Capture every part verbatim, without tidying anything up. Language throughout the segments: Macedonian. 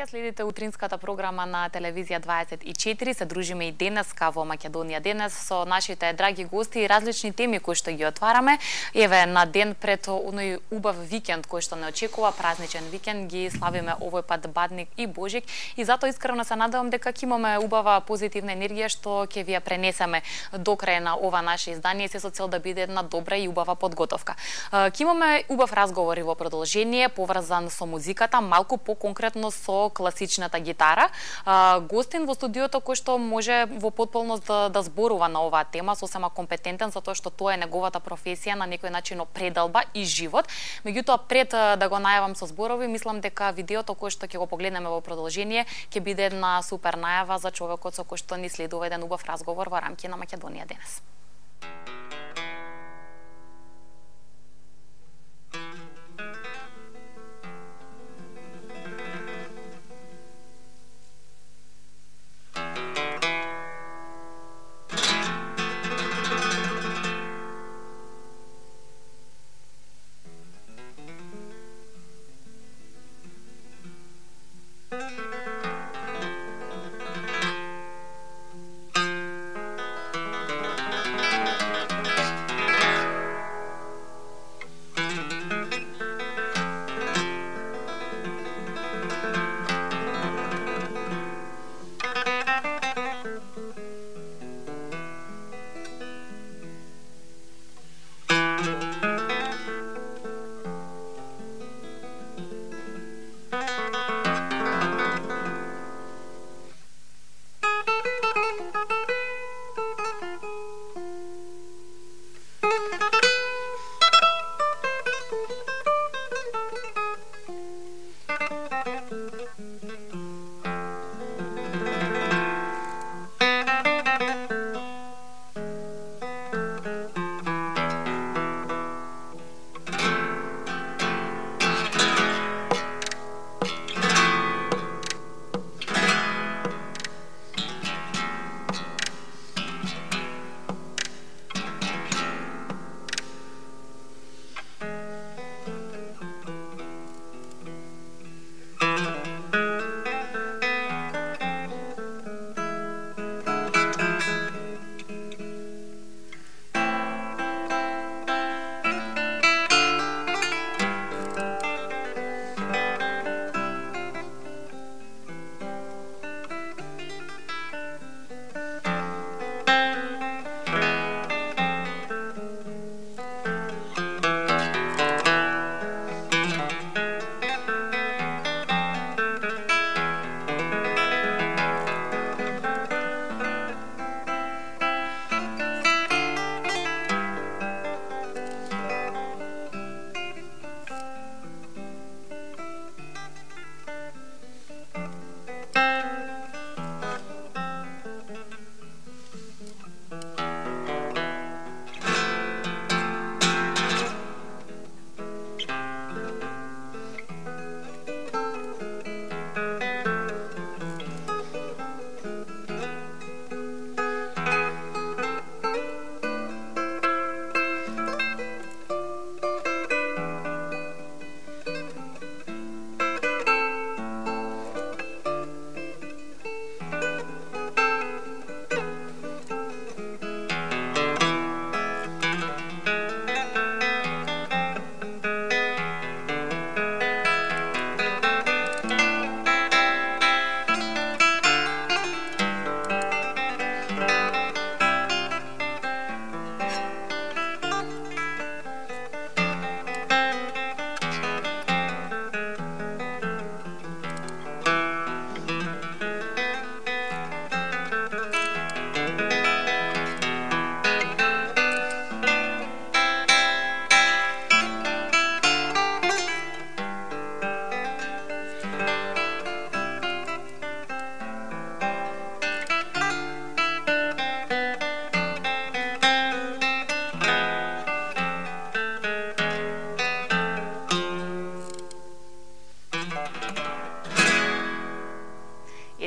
Ја следите утринската програма на телевизија дваесет и четири. Се дружиме и денеска во Македонија денес со нашите драги гости и различни теми кои што ги отвараме. Еве, на ден пред оној убав викенд кој што не очекува, празничен викенд, ги славиме овој пат Бадник и Божик, и затоа искрено се надевам дека ќе имаме убава позитивна енергија што ќе ви ја пренесеме до крај на ова наше издание, се со цел да биде една добра и убава подготовка. Ќе имаме убав разговор и во продолжение, поврзан со музиката, малку по-конкретно со класичната гитара. Гостин во студиото кој што може во потполност да, да зборува на оваа тема, сосема компетентен, затоа што тоа е неговата професија, на некој начин определба и живот. Меѓутоа, пред да го најавам со зборови, мислам дека видеото кој што ќе го погледнеме во продолжение ќе биде една супер најава за човекот со кој што ни следува еден убав разговор во рамки на Македонија денес.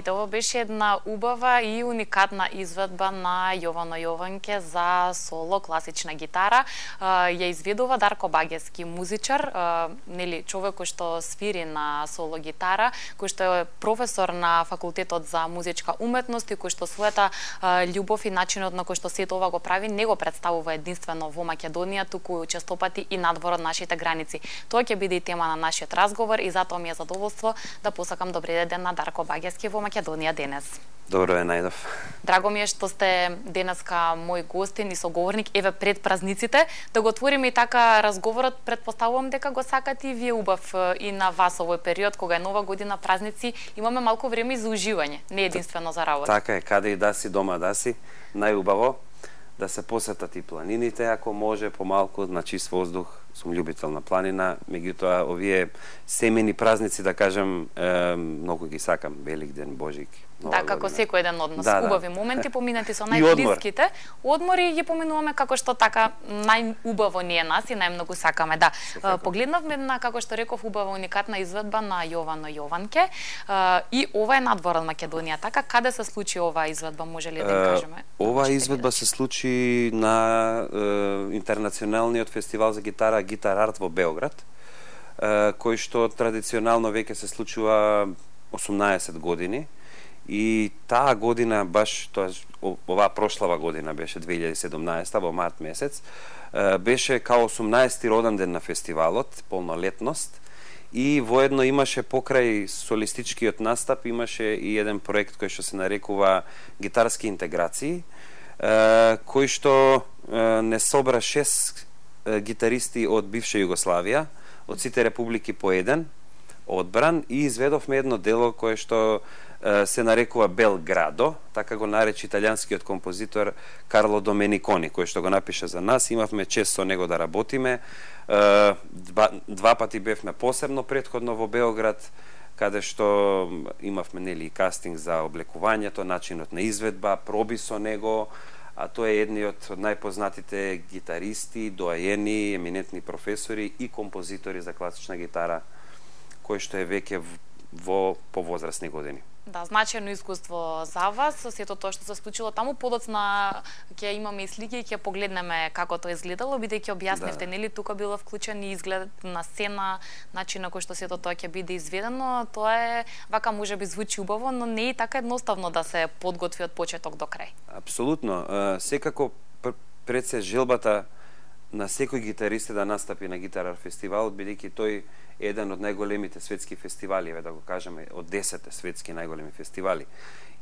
Ете, ова беше една убава и уникатна изведба на Јовано Јованке за соло класична гитара. Ја изведува Дарко Багески, музичар, нели човек кој што свири на соло гитара, кој што е професор на факултетот за музичка уметност и кој што својата љубов и начинот на кој што сето ова го прави не го представува единствено во Македонија, туку честопати и надвор од нашите граници. Тоа ќе биде и тема на нашиот разговор и затоа ми е задоволство да посакам добри ден на Дарко Багески во Македонија денес. Добро е, најдов. Драго ми е што сте денеска мој гостин и соговорник, еве пред празниците, да го отвориме и така разговорот. Предпоставувам дека го сакате и вие убав и на вас овој период, кога е нова година, празници, имаме малку време за уживање, не единствено за работа. Така е, каде и да си, дома да си, најубаво да се посетат и планините, ако може, помалку, на чист воздух. Сум љубител на планина, меѓутоа овие семени празници, да кажем, е, многу ги сакам, Великден, Божик, Нова Да, како година. секој ден од нас. Да, да. Убави моменти поминати со И одмор. најблиските. Одмори ги поминуваме како што така најубаво ние нас и најмногу сакаме. Да, Секако. погледнавме на, како што реков, убава уникатна изведба на Јовано Јованке. И ова е надвор од Македонија. Така, каде се случи оваа изведба, може ли да им кажеме? Оваа изведба се случи на е, интернационалниот фестивал за гитара Гитар Арт во Београд, е, кој што традиционално веќе се случува осумнаесет години. И таа година, баш тоа оваа прошлава година беше две илјади и седумнаесета во март месец, беше као осумнаесети роден ден на фестивалот, полнолетност, и воедно имаше покрај солистичкиот настап имаше и еден проект кој што се нарекува Гитарски интеграции, кој што не собра шест гитаристи од бивша Југославија, од сите републики по еден, одбран, и изведовме едно дело кое што се нарекува Белградо, така го нарече италијанскиот композитор Карло Доменикони, кој што го напиша за нас. Имавме чест со него да работиме. Два, два пати бевме посебно предходно во Београд, каде што имавме нели кастинг за облекувањето, начинот на изведба, проби со него, а тој е едниот од најпознатите гитаристи, доаени, еминентни професори и композитори за класична гитара, кој што е веќе во повозрастни години. Да, значајно искуство за вас, со сето тоа што се случило таму. Подоцна ќе имаме и слики и ќе погледнеме како тоа изгледало, бидејќи објаснивте, да. Нели тука било вклучен и изглед на сцена, начин на кој што сето тоа ќе биде изведено. Тоа е вака можеби звучи убаво, но не е така едноставно да се подготви од почеток до крај. Апсолутно, секако пред се желбата на секој гитарист да настапи на Гитар фестивал, бидејќи тој е еден од најголемите светски фестивали, да го кажеме, од десетте светски најголеми фестивали.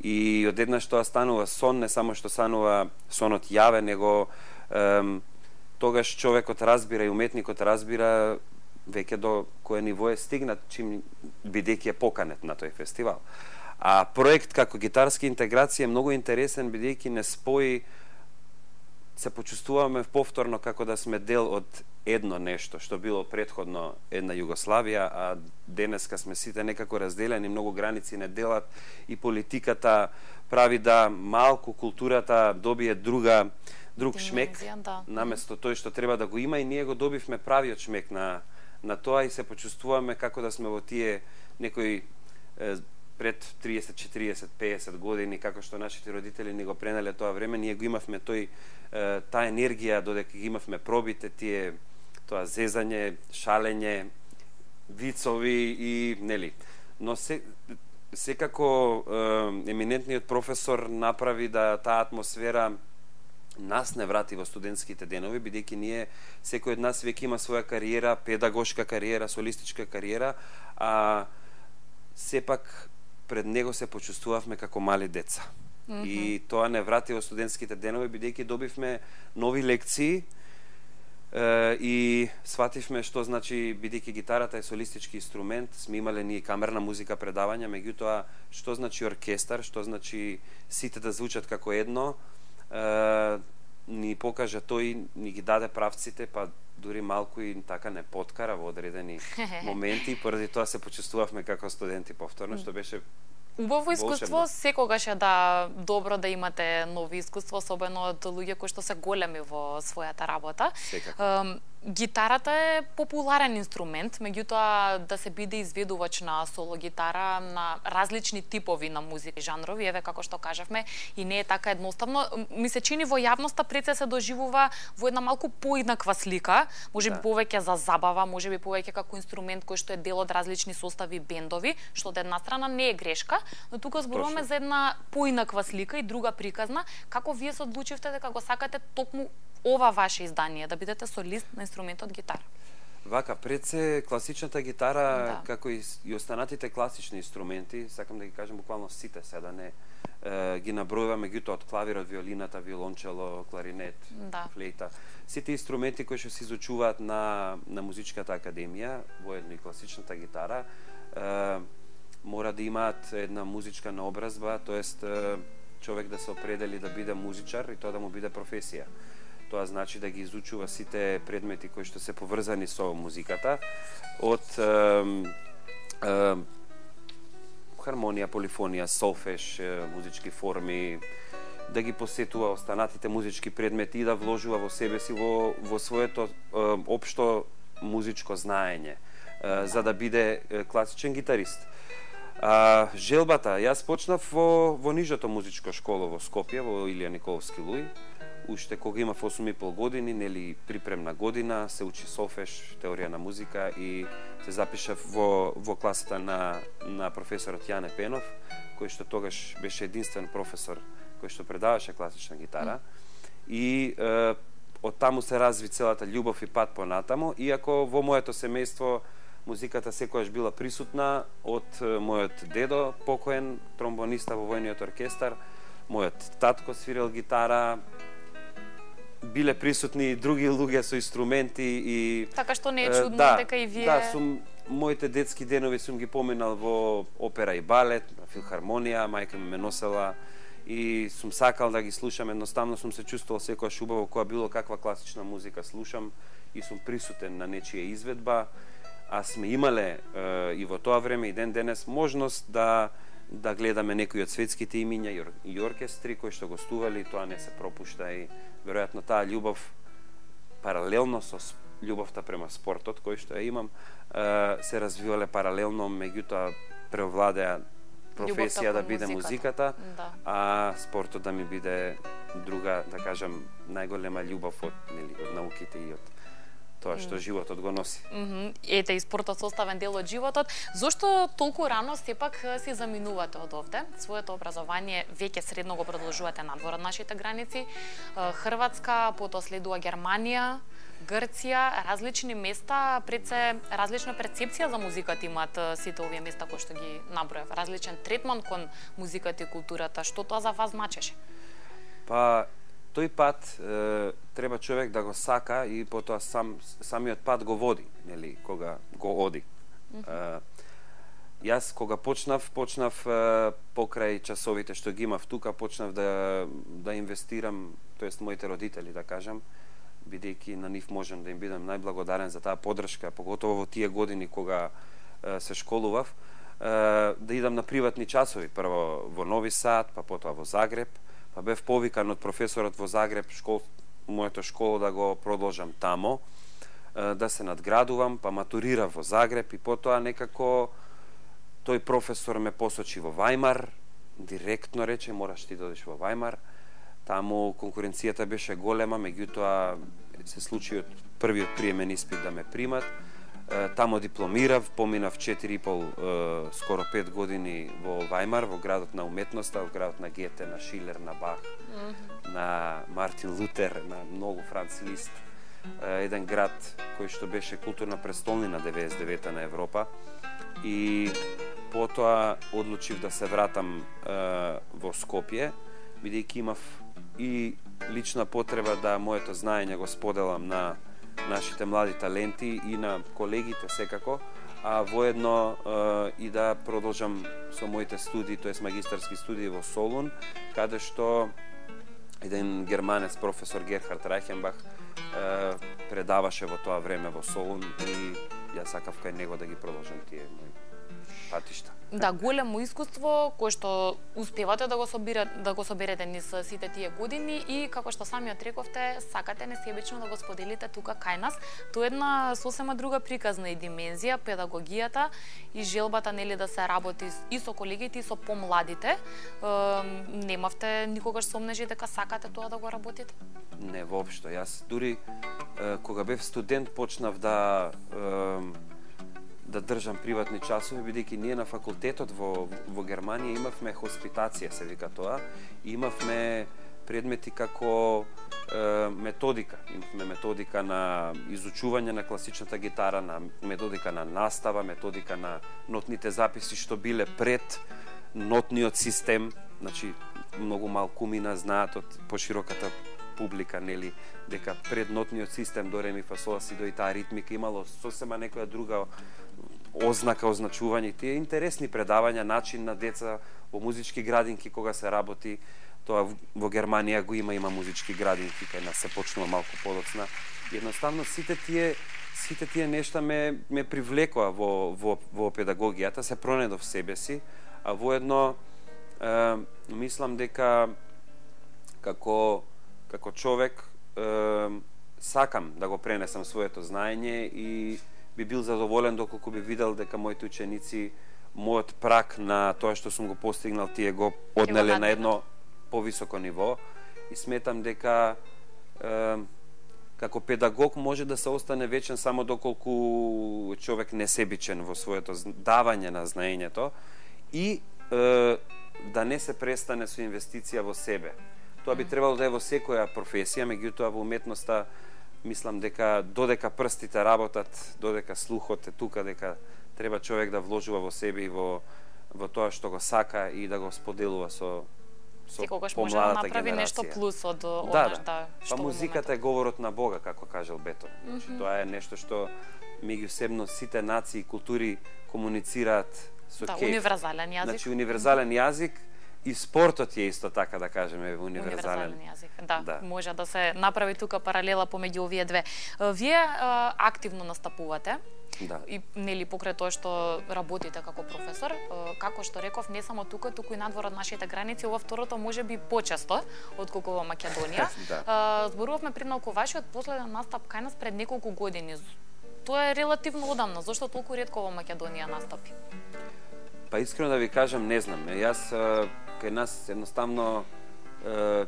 И одеднаш тоа станува сон, не само што станува сонот јавен, него ем, тогаш човекот разбира и уметникот разбира веќе до кое ниво е стигнат, чим бидејќи е поканет на тој фестивал. А проект како Гитарски интеграција е многу интересен, бидејќи не спои, се почувствуваме повторно како да сме дел од едно нешто што било претходно една Југославија, а денеска сме сите некако разделени, многу граници не делат и политиката прави да малку културата добие друга друг шмек, да. Наместо тој што треба да го има, и ние го добивме правиот шмек на на тоа и се почувствуваме како да сме во тие некои е, пред триесет, четириесет, пеесет години, како што нашите родители ни го пренале тоа време, ние го имавме тој таа енергија, додека ги имавме пробите, тие тоа зезање, шалење, вицови и нели. Но се, секако еминентниот професор направи да таа атмосфера нас не врати во студентските денови, бидејќи ние, секој од нас веќе има своја кариера, педагошка кариера, солистичка кариера, а сепак пред него се почувствувавме како мали деца. Mm -hmm. И тоа не врати во студентските денови, бидејќи добивме нови лекции е, и свативме што значи, бидејќи гитарата е солистички инструмент, сме имале ние камерна музика предавања, меѓутоа што значи оркестар, што значи сите да звучат како едно, е, ни покажа тој, ни ги даде правците, па дури малку и така не подкара во одредени моменти, поради тоа се почувствувавме како студенти повторно, што беше убаво искуство. Волшебно. Секогаш е да добро да имате нови искуство, особено од луѓе кои што се големи во својата работа. Секако. Гитарата е популарен инструмент, меѓутоа да се биде изведувач на соло гитара на различни типови на музика и жанрови, еве како што кажавме, и не е така едноставно. Ми се чини во јавноста пред се се доживува во една малку поинаква слика, можеби да. повеќе за забава, можеби повеќе како инструмент кој што е дел од различни состави бендови, што од една страна не е грешка, но тука зборуваме Точно. за една поинаква слика и друга приказна. Како вие се одлучивте дека го сакате токму ова ваше издание, да бидете солист на инструментот гитара? Вака, пред се класичната гитара, да. како и, и останатите класични инструменти, сакам да ги кажам буквално сите, се да не е, ги набројуваме, меѓутоа од клавирот, виолината, виолончело, кларинет, да. флейта. Сите инструменти кои што се изучуваат на, на музичката академија, воедно и класичната гитара, е, мора да имаат една музичка наобразба, тоест човек да се определи да биде музичар и тоа да му биде професија. Тоа значи да ги изучува сите предмети кои што се поврзани со музиката, од е, е, хармонија, полифонија, солфеж, музички форми, да ги посетува останатите музички предмети и да вложува во себе си во, во своето е, општо музичко знаење, е, за да биде класичен гитарист. А, желбата, јас почнав во, во нижото музичко школо во Скопје, во Илија Николовски Луј, уште кога имав осум и пол години, нели припремна година, се учи солфеж, теорија на музика и се запишав во, во класата на, на професорот Јане Пенов, кој што тогаш беше единствен професор кој што предаваше класична гитара. Mm. И е, од таму се разви целата љубов и пат понатаму, иако во моето семејство музиката секогаш била присутна од мојот дедо, покоен тромбониста во војниот оркестар, мојот татко свирел гитара, биле присутни и други луѓе со инструменти и така што не е чудно да, дека и вие. Да, сум моите детски денови сум ги поминал во опера и балет, на филхармонија, мајка ми ме носела и сум сакал да ги слушам, едноставно сум се чувствувал секогаш убаво кога било каква класична музика слушам и сум присутен на нечија изведба. А сме имале е, и во тоа време и ден денес можност да да гледаме некои од светските имиња и оркестри кои што гостували, тоа не се пропушта и веројатно таа љубов паралелно со љубовта према спортот кој што ја имам се развивале паралелно, меѓутоа преовладеа професија да биде музиката, да. А спортот да ми биде друга, да кажам, најголема љубов од, нели, од науките и од тоа што животот го носи. Mm -hmm. Ете, и спортот составен дел од животот. Зошто толку рано сепак си заминувате од овде? Своето образование веќе средно го продолжувате надвор од нашите граници. Хрватска, потоа следува Германија, Грција, различни места, пред се различна перцепција за музиката имаат сите овие места кои што ги набројав. Различен третман кон музиката и културата. Што тоа за вас значеше? Па тој пат е, треба човек да го сака и потоа сам самиот пат го води, нели, кога го оди. Mm -hmm. е, јас кога почнав, почнав е, покрај часовите што ги имав тука, почнав да да инвестирам, тоест моите родители, да кажам, бидејќи на нив можам да им бидам најблагодарен за таа поддршка, поготово во тие години кога е, се школував, е, да идам на приватни часови, прво во Нови Сад, па потоа во Загреб. Па бев повикан од професорот во Загреб, школ, моето школо да го продолжам тамо, да се надградувам, па матурирав во Загреб и потоа некако тој професор ме посочи во Вајмар, директно рече, мораш ти да одиш во Вајмар. Таму конкуренцијата беше голема, меѓутоа се случи од првиот приемен испит да ме примат. Тамо дипломирав, поминав четири и пол, скоро пет години во Вајмар, во градот на уметноста, во градот на Гете, на Шилер, на Бах, mm -hmm. на Мартин Лутер, на многу Франц Лист. Еден град кој што беше културна престолнина деветдесет и девета на Европа. И потоа одлучив да се вратам во Скопје, бидејќи имав и лична потреба да моето знаење го споделам на нашите млади таленти и на колегите секако, а воедно е, и да продолжам со моите студии, тоест магистарски студии во Солун, каде што еден германец, професор Герхард Райхенбах, е, предаваше во тоа време во Солун и јас сакав кај него да ги продолжам тие мои патишта. Да, големо искуство кое што успевате да го собирате, да го соберете низ сите тие години и како што самиот рековте, сакате несебично да го споделите тука кај нас. Тоа е една сосема друга приказна и димензија, педагогијата и желбата нели да се работи и со колегите и со помладите. Е, немавте никогаш сомнежи дека сакате тоа да го работите? Не, воопшто. Јас дури е, кога бев студент почнав да е, да држам приватни часови, бидејќи ние на факултетот во, во Германија имавме хоспитација, се вика тоа, и имавме предмети како е, методика. Имавме методика на изучување на класичната гитара, на методика на настава, методика на нотните записи што биле пред нотниот систем, значи многу малку мина знаат од пошироката публика, нели, дека пред нотниот систем до ре ми фа сол ла си до и таа ритмика имало сосема некоја друга ознака, означување. Тие интересни предавања, начин на деца во музички градинки кога се работи, тоа во Германија го има, има музички градинки, кај нас се почнува малку подоцна. Едноставно сите тие сите тие нешта ме ме привлекоа во во во педагогијата, се пронедов себе си, а воедно е, мислам дека како како човек е, сакам да го пренесам своето знаење и би бил задоволен доколку би видел дека моите ученици мојот прак на тоа што сум го постигнал тие го однеле на едно повисоко ниво и сметам дека е, како педагог може да се остане вечен само доколку човек не себичен во своето давање на знаењето и е, да не се престане со инвестиција во себе. Тоа би требало да е во секоја професија, меѓутоа во уметноста мислам дека додека прстите работат, додека слухот е тука, дека треба човек да вложува во себе и во во тоа што го сака и да го споделува со со секогаш може да направи генерација. Нешто плюс од да, онаш да. да, што па музиката е говорот на Бога, како кажал Бетон. Значи, mm -hmm. тоа е нешто што меѓусебно сите нации и култури комуницираат со да, кејф. универзален јазик. Значи универзален јазик. И спортот е исто така, да кажеме, универзален. Универзален јазик. Да, да, може да се направи тука паралела помеѓу овие две. Вие а, активно настапувате. Да. И нели покрај тоа што работите како професор, а, како што реков, не само тука, туку и надвор од нашите граници, ова второто можеби почесто отколку во Македонија. да. а, зборувавме пред малку вашиот последен настап кај нас пред неколку години. Тоа е релативно одамна. Зошто толку ретко во Македонија настапи? Па искрено да ви кажам, не знам. Јас кај нас едноставно е,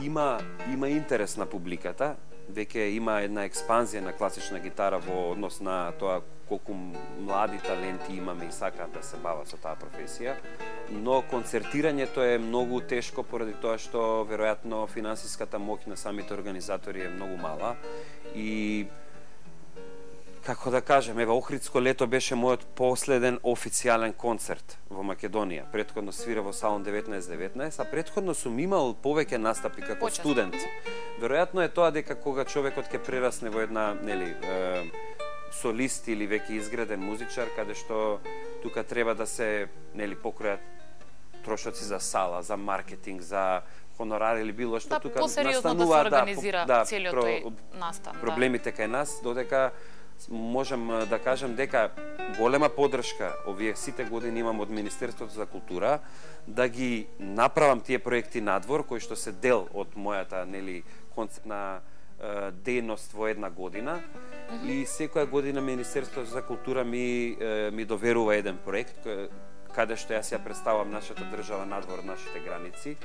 има има интерес на публиката, веќе има една експанзија на класична гитара во однос на тоа колку млади таленти имаме и сакаат да се бават со таа професија, но концертирањето е многу тешко поради тоа што веројатно финансиската моќ на самите организатори е многу мала и како да кажем, ева Охридско лето беше мојот последен официјален концерт во Македонија. Претходно свира во Салон деветнаесет деветнаесет, а претходно сум имал повеќе настапи како Почест. студент. Веројатно е тоа дека кога човекот ќе прерасне во една, нели, е, солист или веќе изграден музичар, каде што тука треба да се, нели, покројат трошоци за сала, за маркетинг, за хонорар или било што, да, тука настанува да се организира да, целиот про, тој настан. проблемите да. кај нас, додека можам да кажам дека голема поддршка овие сите години имам од Министерството за култура да ги направам тие проекти надвор кои што се дел од мојата, нели, концептна е, дејност во една година. Mm -hmm. И секоја година Министерството за култура ми е, ми доверува еден проект каде што јас ја представам нашата држава надвор од нашите граници.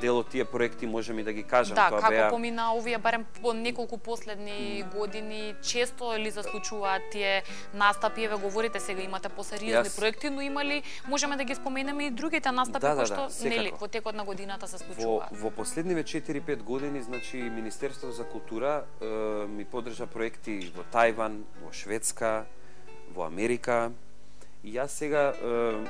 Дел од тие проекти можеме да ги кажам, да, тоа како беа помина овие барем по неколку последни години, често ли се случуваат тие настапи, еве говорите сега имате посериозни Јас... проекти, но имали можеме да ги споменеме и другите настапи да, да, кои што да, нели во текот на годината се случуваат. Во, во последниве четири-пет години, значи Министерството за култура е, ми поддржа проекти во Тајван, во Шведска, во Америка. И јас сега е,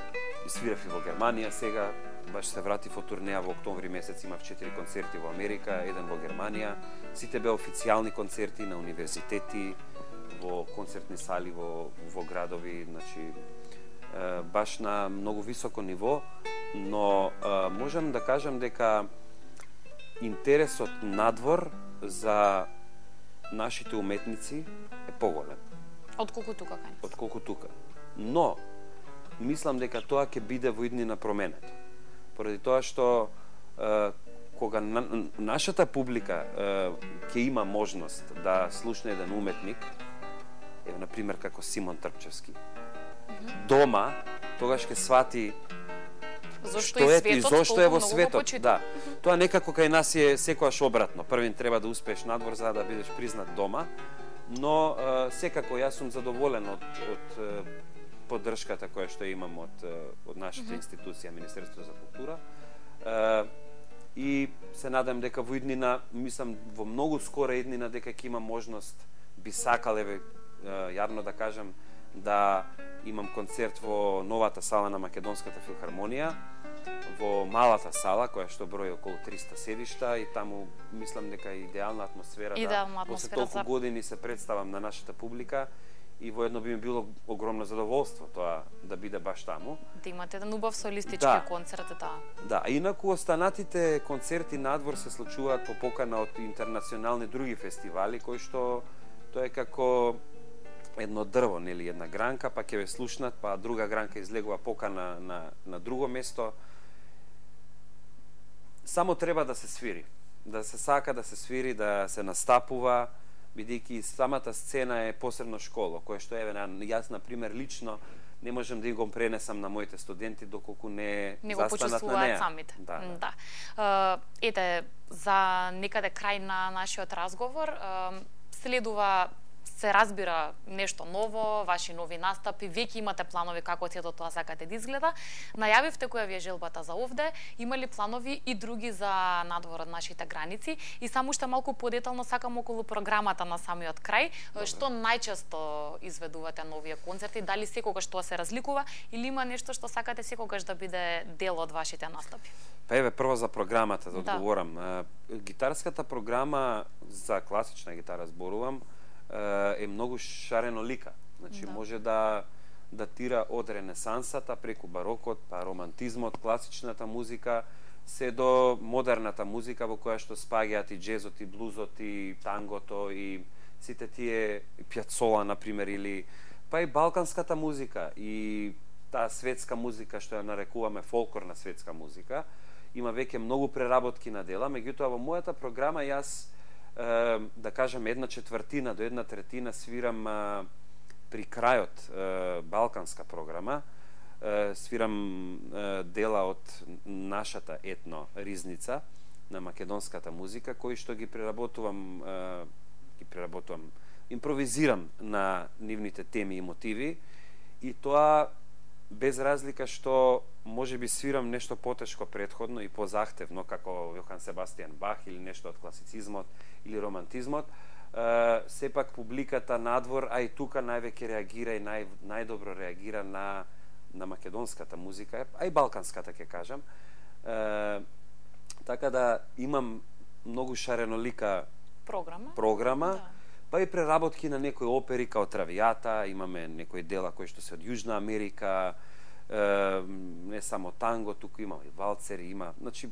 свирав и во Германија сега. Баш се вратив од турнеја во октомври месец, имав четири концерти во Америка, еден во Германија. Сите беа официјални концерти на универзитети, во концертни сали во, во градови, значи баш на многу високо ниво, но можам да кажам дека интересот надвор за нашите уметници е поголем. Отколку тука кај нас. Отколку тука. Но мислам дека тоа ќе биде во иднина променето. Поради тоа што е, кога на, нашата публика е, ќе има можност да слушне еден уметник, ево на пример како Симон Трпчевски, mm-hmm. дома тогаш ќе свати зошто што и е светот, и зошто е во светот. Да. Mm-hmm. Тоа некако кај нас е секогаш обратно. Првин треба да успееш надвор за да бидеш признат дома, но е, секако јас сум задоволен од, од е, поддршката која што имам од, од нашата mm-hmm. институција, Министерство за култура. Е, и се надам дека во иднина, мислам во многу скора иднина дека ќе има можност, би сакал еве јавно да кажам, да имам концерт во новата сала на Македонската филхармонија, во малата сала која што брои околу триста седишта, и таму мислам дека е идеална атмосфера, идеална да после атмосфера толку за... години се представам на нашата публика, и воедно би ми било огромно задоволство тоа да биде баш таму. Да имате еден убав солистички да. концерт, да. Да, инаку останатите концерти надвор се случуваат по покана од интернационални други фестивали, кои што тоа е како едно дрво, нели, една гранка, па ќе ве слушнат, па друга гранка излегува покана на, на друго место. Само треба да се свири, да се сака да се свири, да се настапува, бидејќи самата сцена е посебно школо, кое што еве јас на пример лично не можам да го пренесам на моите студенти доколку не, не го застанат на неа. самите. Да, да. да. Ете, за некаде крај на нашиот разговор, следува, се разбира нешто ново, ваши нови настапи, веќе имате планови како сето тоа сакате да изгледа. Најавивте која ви е желбата за овде, има ли планови и други за надвор од нашите граници? И само уште малку подетално сакам околу програмата на самиот крај. Добре. Што најчесто изведувате новија концерти? Дали секогаш тоа се разликува или има нешто што сакате секогаш да биде дел од вашите настапи? Па еве прво за програмата да, да. одговорам. Гитарската програма за класична гитара зборувам, е многу шаренолика. Значи да. може да датира од ренесансата преку барокот, па романтизмот, класичната музика, се до модерната музика во која што спаѓаат и джезот, и блузот, и тангото, и сите тие Пјацола, например, или па и балканската музика, и таа светска музика што ја нарекуваме фолклорна светска музика. Има веќе многу преработки на дела, меѓутоа во мојата програма јас да кажам една четвртина до една третина свирам а, при крајот а, балканска програма, а, свирам а, дела од нашата етно ризница на македонската музика, кои што ги преработувам а, ги преработувам импровизирам на нивните теми и мотиви, и тоа без разлика што може би свирам нешто потешко претходно и позахтевно, како Јохан Себастијан Бах или нешто од класицизмот или романтизмот, е, сепак публиката надвор, а и тука највеќе реагира и нај, најдобро реагира на, на македонската музика, а и балканската, ќе кажам. Е, така да имам многу шаренолика програма, програма да. Па и преработки на некои опери као Травијата, имаме некои дела кои што се од Јужна Америка, е, не само танго, туку има и валцери, има, значи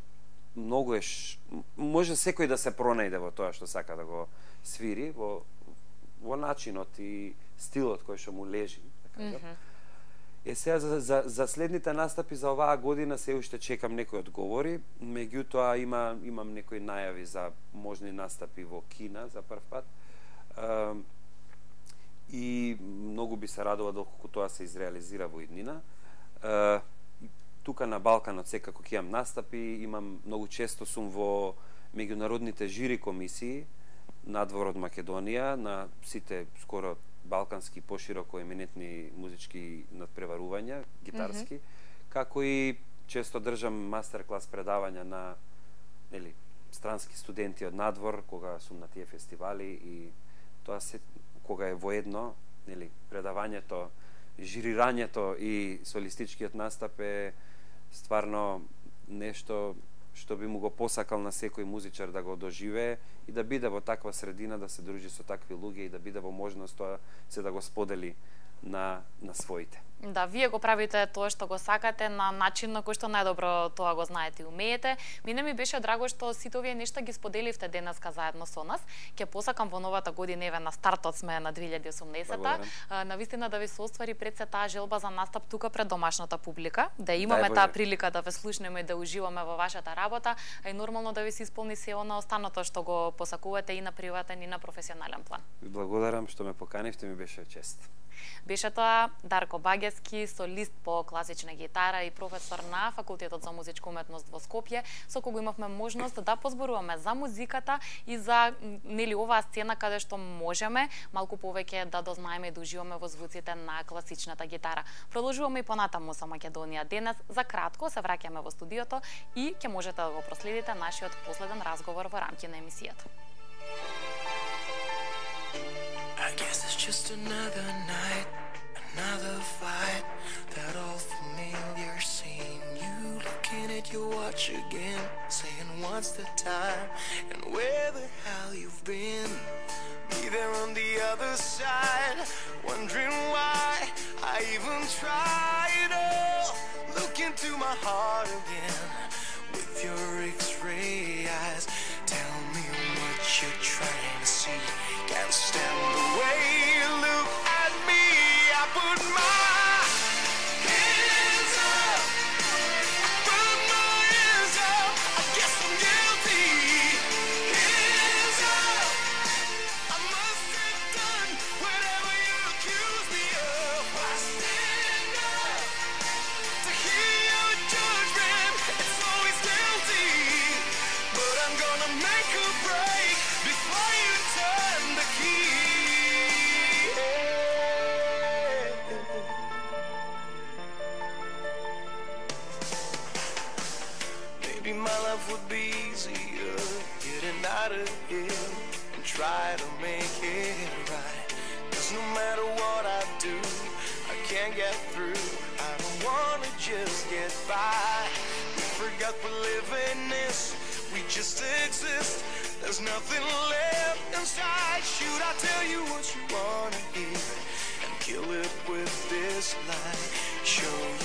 многу е ш... може секој да се пронајде во тоа што сака да го свири, во, во начинот и стилот кој што му лежи, да кажам. Mm-hmm. Е, сега за, за, за следните настапи за оваа година се уште чекам некои одговори, меѓутоа има, имам некои најави за можни настапи во Кина за прв пат. Uh, и многу би се радува доколку тоа се изреализира во иднина. Uh, тука на Балканот секако ќе имам настапи, имам многу често сум во меѓународните жири комисии надвор од Македонија на сите скоро балкански пошироко еминентни музички надпреварувања, гитарски, mm-hmm. како и често држам мастер-клас предавања на нели странски студенти од надвор кога сум на тие фестивали, и тоа се кога е воедно, нели, предавањето, жирирањето и солистичкиот настап е стварно нешто што би му го посакал на секој музичар да го доживее и да биде во таква средина, да се дружи со такви луѓе и да биде во можност тоа се да го сподели на, на своите. Да, вие го правите тоа што го сакате на начин на кој што најдобро тоа го знаете и умеете. Мене ми беше драго што сите овие нешта ги споделивте денеска заедно со нас. Ќе посакам во новата година, еве на стартот сме на две илјади и осумнаесета, навистина да ви се оствари пред се таа желба за настап тука пред домашната публика, да имаме таа прилика да ве слушнеме и да уживаме во вашата работа, а и нормално да ви се исполни се она останато што го посакувате и на приватен и на професионален план. Благодарам што ме поканивте, ми беше чест. Беше тоа Дарко Багески, солист по класична гитара и професор на Факултетот за музичка уметност во Скопје, со кого имавме можност да позборуваме за музиката и за нели оваа сцена каде што можеме малку повеќе да дознаеме и да уживаме во звуците на класичната гитара. Продолжуваме и понатаму со Македонија денес. За кратко се враќаме во студиото и ќе можете да го проследите нашиот последен разговор во рамки на емисијата. I guess it's just another night, another fight, that old familiar scene. You looking at your watch again, saying what's the time and where the hell you've been. Me there on the other side, wondering why I even tried. Oh, look into my heart again with your X-ray eyes. Tell me what you're trying to see. Can't stand the way you look at me. I put my hands up, I put my hands up. I guess I'm guilty. Hands up, I must have done whatever you accuse me of. I stand up to hear your judgment. It's always guilty, but I'm gonna make a break before you turn the key. Maybe my life would be easier getting out of here and try to make it right. 'Cause no matter what I do, I can't get through. I don't wanna just get by. We forgot we're living this, we just exist. There's nothing left inside. Should I tell you what you wanna hear and kill it with this line? Show you